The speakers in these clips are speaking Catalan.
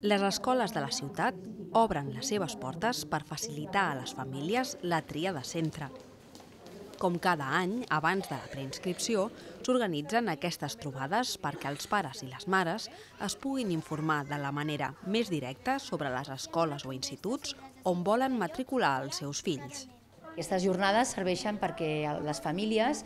Les escoles de la ciutat obren les seves portes per facilitar a les famílies la tria de centre. Com cada any, abans de la preinscripció, s'organitzen aquestes trobades perquè els pares i les mares es puguin informar de la manera més directa sobre les escoles o instituts on volen matricular els seus fills. Aquestes jornades serveixen perquè les famílies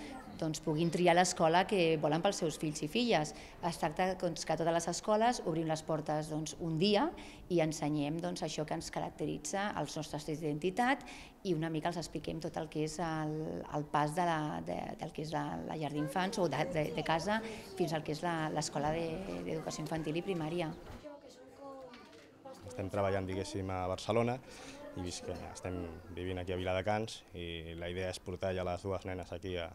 puguin triar l'escola que volen pels seus fills i filles. Es tracta que a totes les escoles obrim les portes un dia i ensenyem això que ens caracteritza, els nostres trets d'identitat, i una mica els expliquem tot el que és el pas del que és la llar d'infants o de casa fins al que és l'escola d'educació infantil i primària. Estem treballant, diguéssim, a Barcelona i vist que estem vivint aquí a Viladecans i la idea és portar ja les dues nenes aquí a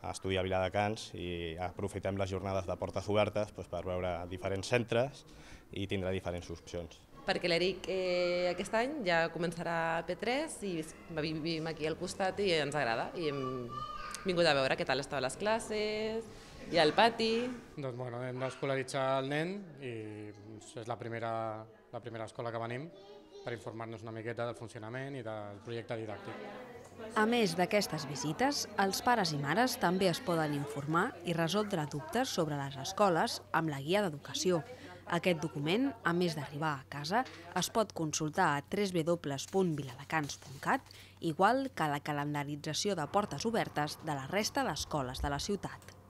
estudiar a Viladecans i aprofitem les jornades de portes obertes per veure diferents centres i tindre diferents opcions. Perquè l'Eric aquest any ja començarà a P3 i vivim aquí al costat i ens agrada i hem vingut a veure què tal estaven les classes i al pati. Doncs bueno, hem d'escolaritzar el nen i és la primera escola que venim per informar-nos una miqueta del funcionament i del projecte didàctic. A més d'aquestes visites, els pares i mares també es poden informar i resoldre dubtes sobre les escoles amb la guia d'educació. Aquest document, a més d'arribar a casa, es pot consultar a www.viladecans.cat, igual que la calendarització de portes obertes de la resta d'escoles de la ciutat.